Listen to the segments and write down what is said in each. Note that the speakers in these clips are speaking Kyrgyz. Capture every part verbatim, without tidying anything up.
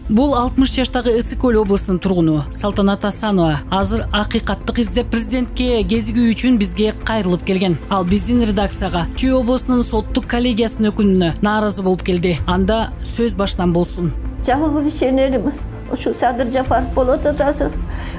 Бул алтымыш жаштагы Ысык Көл облусунун тургуну Салтанат Асанова азыр акыйкаттык издеп президентке кезигүү үчүн бизге кайрылып келген. Ал биздин редакцияга Чүй облусунун соттук коллегиясынын өкүмүнө нааразы болуп келди. Анда сөз башынан болсун. Жалгыз ишенерим ушу Садыр Жапаров болот атасы.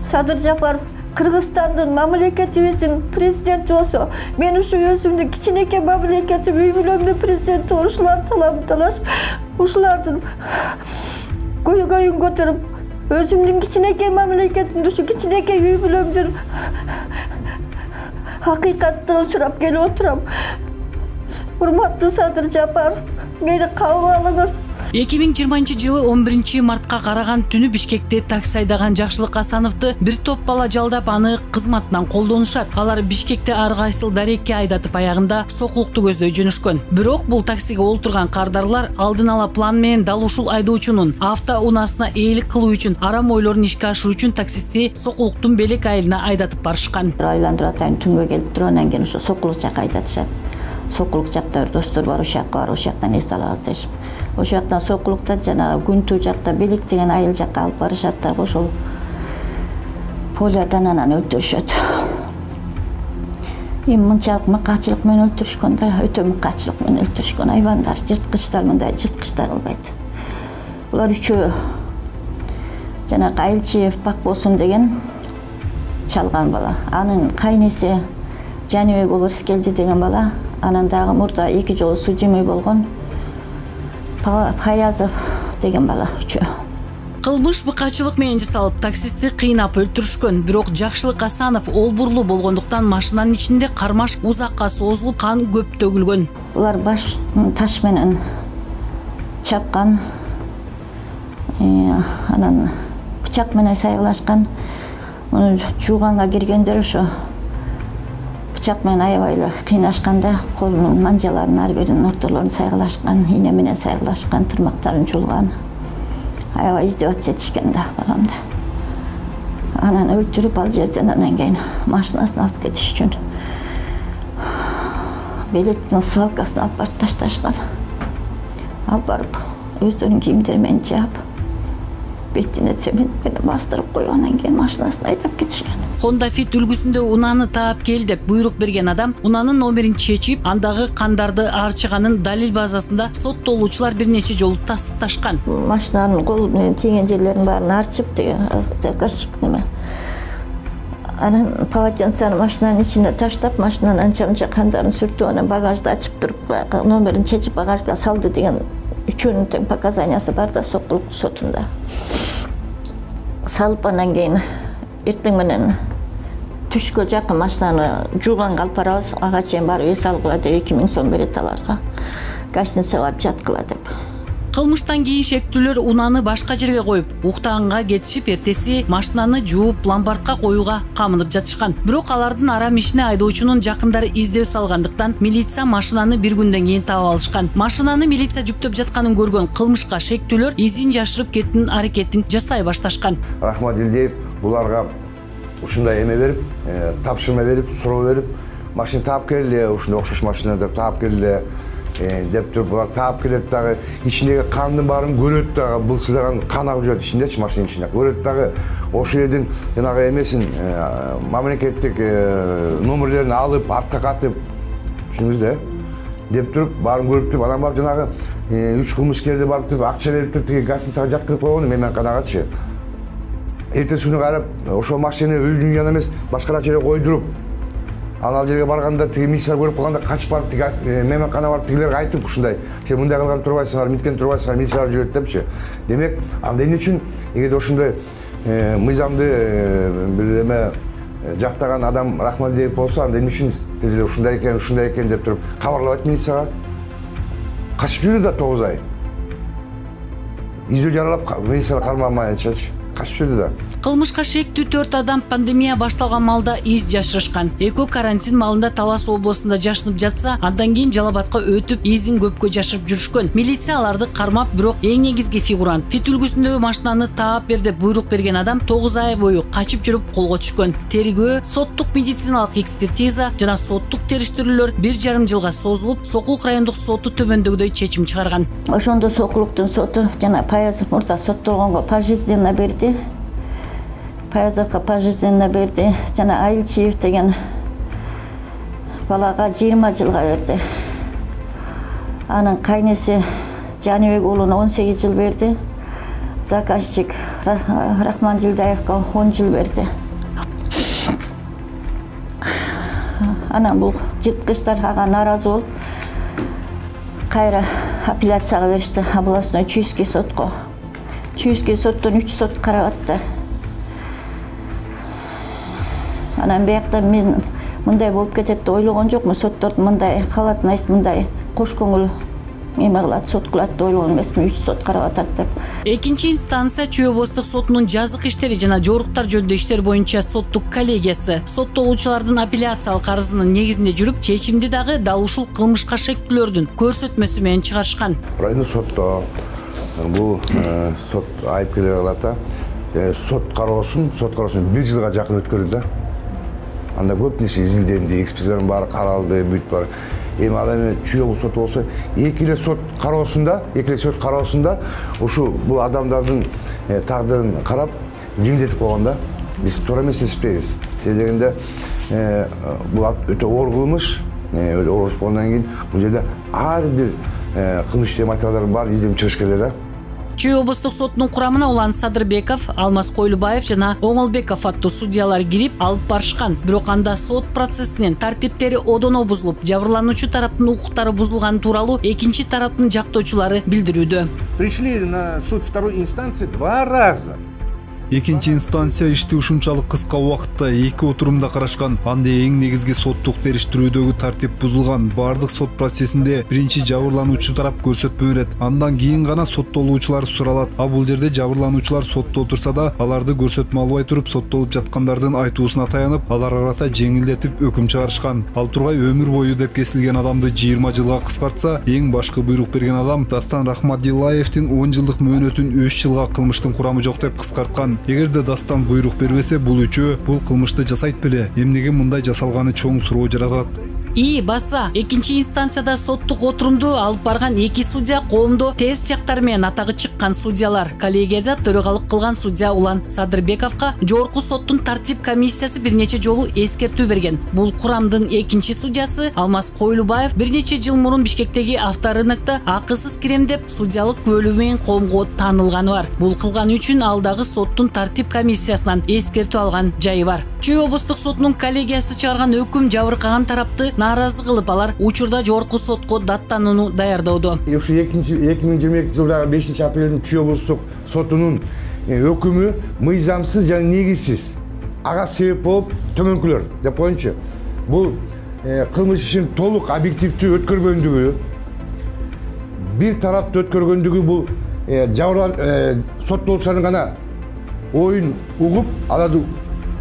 Садыр Жапаров Кыргызстандын мамлекетибиздин президенти болсо, мен ушу өзүмдүн кичинекей мамлекетим үй бүлөмдүн президенти ушулар талап-талаш, ушулардын көйгөйүн көтөрүп, өзүмдүн кичинекей мамлекетимди ушу кичинекей үй бүлөмдүн акыйкаттыгын сурап келип отурам. Урматтуу Садыр Жапаров, мени кабыл алыңыз. эки миң жыйырманчы жылы он биринчи мартка караган түнү Бишкекте такси айдаган Жакшылык Асановду бир топ бала жалдап аны кызматынан колдонушат. Алар Бишкекте ар кайсыл дарекке айдатып аягында сокулукту көздөй жөнөшкөн. Бирок бул таксиге олтурган кардарлар алдын ала план менен дал ушул айдоочунун автоунаасына ээлик кылуу үчүн арам ойлорун ишке ашыруу үчүн таксисти Сокулуктун Белек айылына айдатып барышкан. Айландырып атайын, түнгө келип туруп, анан кийин ошо Сокулук жакка айдатышат. Сокулук жакта бир достор бар, ошол жакка барып, ошол жактан эс алабыз дешип. Ошол жактан Сокулукта жанагы Күнтүү жакта Белек деген айыл жакка алып барышат да, ошол полядан анан өлтүрүшөт. Эми мынчалык мыкаачылык менен өлтүрүшкөн да, өтө мыкаачылык менен өлтүрүшкөн. Айбандар, жырткычтар, мындай жырткычтар кылбайт. Булар үчөө жанагы Айылчиев Бакбосун деген чалган бала. Анын кайнеси Жаныбек уулу Рыскелди деген бала, анан дагы мурда эки жолу судимый болгон Хаязов деген бала үчөө. Кылмыш быкачылык менен жасалып, таксисти кыйнап өлтүрүшкөн. Бирок Жакшылык Асанов олбурлуу болгондуктан машинанын ичинде кармаш узакка созулуп, кан көп төгүлгөн. Булар баш таш менен чапкан, анан бычак менен сайгылашкан. Муну жууганга киргендер ошо бычак менен аябай эле кыйнашканда, колунун манжаларын ар биринин ортолорун сайгылашкан, ийне менен сайгылашкан, тырмактарын жулган. Аябай издеваться этишкен да баламды. Анан өлтүрүп, ал жерден анан кийин машинасын алып кетиш үчүн Белектин свалкасына алып барып ташташкан. Алып барып өздөрүнүн кийимдери менен жаап, бетине цемент менен бастырып коюп, анан кийин машинасын айдап кетишкен. Honda Fit үлгүсүндө унааны таап кел деп буйрук берген адам унаанын номерин чечип, андагы кандарды арчыганын далил базасында соттолуучулар бир нече жолу тастыкташкан. Машинанын кол менен тийген жерлерин баарын арчып, деген заказчик неме. Анан полотенцаны машинанын ичине таштап, машинанын анча-мынча кандарын сүртүп, анан багажды ачып туруп, номерин чечип багажга салды деген үчөөнүн тең показаниясы бар да Сокулук сотунда. Салып, анан кийин эртең менен түшкө жакын машинаны жууганга алып барабыз, ага чейин барып эс алгыла деп эки миң сом берет аларга. Гостиницага барып жаткыла деп. Кылмыштан кийин шектүүлөр унааны башка жерге коюп, уктаганга кетишип, эртеси машинаны жууп, ломбардка коюуга камынып жатышкан. Бирок алардын арам ишине айдоочунун жакындары издөө салгандыктан милиция машинаны бир күндөн кийин таап алышкан. Машинаны милиция жүктөп жатканын көргөн кылмышка шектүүлөр изин жашырып кеттин аракетин жасай башташкан. Рахмат Илдеев буларга ушундай эме берип, тапшырма берип, суроо берип, машина таап келди, ушундай окшош машина деп таап келди деп туруп, булар таап келет дагы, ичиндеги кандын баарын көрөт дагы, былчыдаган кан агып жүрөт ичиндечи, машинанын ичинде. Көрөт дагы, ошол жердин жанагы эмесин, мамлекеттик номерлерин алып, артка катып, түшүнүңүз да, деп туруп, баарын көрүп туруп, анан барып жанагы үч кылмышкерди барып туруп, акча берип туруп, тиги гостиницага жаткырып койгон мейманканагачы. Эртеси күнү карап, ошол машинаны өзүнүн янына эмес, башка жерге койдуруп, анан ал жерге барганда тиги милиция көрүп калганда качып барып, тиги мейманканага барып тигилерге айтып ушундай, сен мындай кылган турбайсыңар, миткен турбайсыңар, милициялар жүрөт депчи. Демек, анда эмне үчүн эгерде ошондой мыйзамды бир эме жактаган адам Рахмалдиев болсо, анда эмне үчүн тез ушундай экен, ушундай экен деп туруп кабарлабайт милицияга? Качып жүрдү да тогуз ай. Издөө жаралап милицияга кармамайынчачы. качып жүрдү да. Кылмышка шектүү төрт адам пандемия башталган маалда из жашырышкан. Экөө карантин маалында Талас облусунда жашынып жатса, андан кийин Жалал Абадка өтүп, изин көпкө жашырып жүрүшкөн. Милиция аларды кармап, бирок эң негизги фигурант Фит үлгүсүндөгү машинаны таап бер деп буйрук берген адам тогуз ай бою качып жүрүп колго түшкөн. Тергөө, соттук медициналык экспертиза жана соттук териштирүүлөр бир жарым жылга созулуп, Сокулук райондук соту төмөндөгүдөй чечим чыгарган. Ошондо Сокулуктун соту жана Паязов мурда соттолгонго пожизненно берди. Паязовго пожизненно берди. Жана Айылчиев деген балага жыйырма жылга берди. Анын кайнеси Жаныбек уулуна он сегиз жыл берди. Заказчик Рахман Жылдаевго он жыл берди. Анан бул жырткычтар ага нааразы болуп, кайра апелляцияга беришти, областной Чуйский сотко. Чуйский соттон үч сот карап атты. Анан биякта мен мындай болуп кетет деп ойлогон жокмун. Соттордун мындай калатын айс мындай кош көңүл эме кылат, сот кылат деп ойлогон эмесмин. үч сот карап атат деп. Экинчи инстанция Чүй облустук сотунун жазык иштери жана жоруктар жөнүндө иштер боюнча соттук коллегиясы соттолуучулардын апелляциялык арызынын негизинде жүрүп, чечимди дагы дал ушул кылмышка шектүүлөрдүн көрсөтмөсү менен чыгарышкан. Райондук сотто бул сот айыпкерлер кылат, сот кароосун, сот кароосун бир жылга жакын өткөрдү да. Анда көп нерсе изилденди, экспертизалардын баары каралды, бүт бар. Эми ал эми Чүй облустук соту болсо, эки эле сот кароосунда, эки эле сот кароосунда ушу бул адамдардын тагдырын карап, жеңилдетип койгон да. Биз туура эмес деп эсептейбиз. Себеби дегенде бул өтө оор кылмыш, өтө оор болгондон кийин бул жерде ар бир кылмыш иштеген материалдардын баары изденип чыгыш керек да. Чүй облустук сотунун курамына Улан Садырбеков, Алмаз Койлубаев жана Оңолбеков аттуу судьялар кирип алып барышкан. Бирок анда сот процессинин тартиптери одоно бузулуп, жабырлануучу тараптын укуктары бузулганы тууралуу экинчи тараптын жактоочулары билдирүүдө. Пришли на суд второй инстанции два раза. Экинчи инстанция ишти ушунчалык кыска убакытта эки отурумда карашкан. Анда эң негизги соттук териштирүүдөгү тартип бузулган. Бардык сот процессинде биринчи жабырлануучу тарап көрсөтмө берет. Андан кийин гана соттолуучулар суралат. А бул жерде жабырлануучулар сотто отурса да, аларды көрсөтмө албай туруп, соттолуп жаткандардын айтуусуна таянып, аларга карата жеңилдетип өкүм чыгарышкан. Ал тургай өмүр бою деп кесилген адамды жыйырма жылга кыскартса, эң башкы буйрук берген адам Дастан Рахмадиллаевдин он жылдык мөөнөтүн үч жылга кылмыштын курамы жок деп кыскарткан. Эгерде Дастан буйрук бербесе, бул үчөө бул кылмышты жасайт беле? Эмнеге мындай жасалганы чоң суроо жаратат. И баса, экинчи инстанцияда соттук отурумду алып барган эки судья коомдо терс жактары менен атагы чыккан судьялар. Коллегияда төрагалык кылган судья Улан Садырбековго жогорку соттун тартип комиссиясы бир нече жолу эскертүү берген. Бул курамдын экинчи судьясы Алмаз Койлубаев бир нече жыл мурун Бишкектеги авторынокто акысыз кирем деп судьялык күбөлүү менен коомго таанылганы бар. Бул кылганы үчүн ал дагы соттун тартип комиссиясынан эскертүү алган жайы бар. Чүй облустук сотунун коллегиясы чыгарган өкүм жабыркаган тарапты нааразы кылып, алар учурда жогорку сотко даттанууну даярдоодо. Ушу эки миң жыйырма экинчи жылдагы бешинчи апрелдин Чүй облустук сотунун өкүмү мыйзамсыз жана негизсиз. Ага себеп болуп төмөнкүлөр деп коеюнчу. Бул кылмыш ишин толук объективдүү өткөргөндүгү, бир тарапты өткөргөндүгү, бул жабырлан соттолуучулардын гана оюн угуп, аларды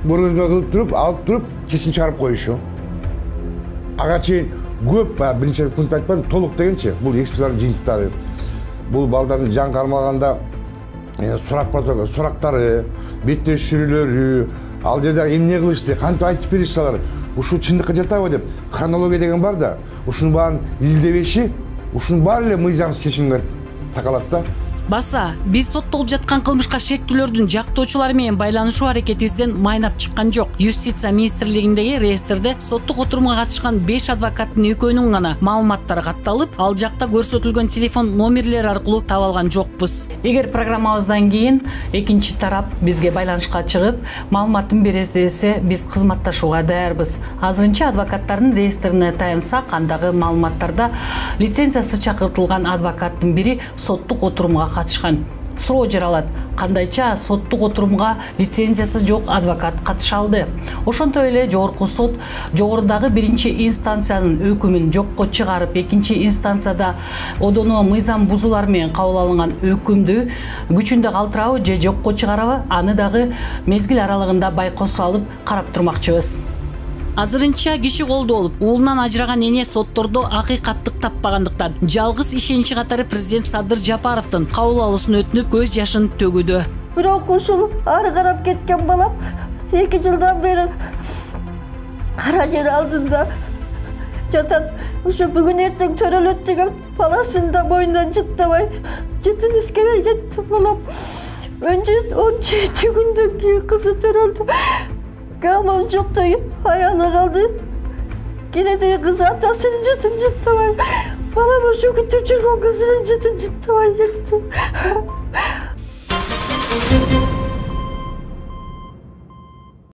көргөзмө кылып туруп, алып туруп, чечим чыгарып коюшу. Ага чейин көп, биринчи пункт айтпадым, толук дегенчи, бул экспертизалардын жыйынтыктары. Бул балдардын жан кармаганда сурак сурактары, беттешүүлөрү, ал жерде эмне кылышты, кантип айтып беришти алар, ушул чындыкка жатабы деп хронология деген бар да, ушунун баарын изилдебеши, ушунун баары эле мыйзамсыз чечимге такалат да. Баса, биз соттолуп жаткан кылмышка шектүүлөрдүн жактоочулары менен байланышуу аракетибизден майнап чыккан жок. Юстиция министрлигиндеги реестрде соттук отурумга катышкан беш адвокаттын экөөнүн гана маалыматтары катталып, ал жакта көрсөтүлгөн телефон номерлери аркылуу таба алган жокпуз. Эгер программабыздан кийин экинчи тарап бизге байланышка чыгып, маалыматын беребиз десе, биз кызматташууга даярбыз. Азырынча адвокаттардын реестрине таянсак, андагы маалыматтарда лицензиясы чакыртылган адвокаттын бири соттук отурумга катышкан. суроо жаралат. Кандайча соттук отурумга лицензиясы жок адвокат катыша алды. Ошонтой эле жогорку сот жогорудагы биринчи инстанциянын өкүмүн жокко чыгарып, экинчи инстанцияда одоно мыйзам бузуулар менен кабыл алынган өкүмдү күчүндө калтырабы же жокко чыгарабы, аны дагы мезгил аралыгында байкоосу алып карап турмакчыбыз. Азырынча киши колдо болуп, уулунан ажыраган эне соттордо акыйкаттык таппагандыктан жалгыз ишеничи катары президент Садыр Жапаровдун кабыл алуусун өтүнүп көз жашын төгүүдө. Бирок ушул ары карап кеткен балам эки жылдан бери кара жер алдында жатат. Ушу бүгүн эртең төрөлөт деген баласын да мойнунан жыттабай, жытын искебей кетти балам. он жети күндөн кийин кызы төрөлдү. Камал жоктой аяна калды. Кенеде кыз атасынын жытын жыттабай, балам ушу күтүп жүргөн кызынын жытын жыттабай кетти.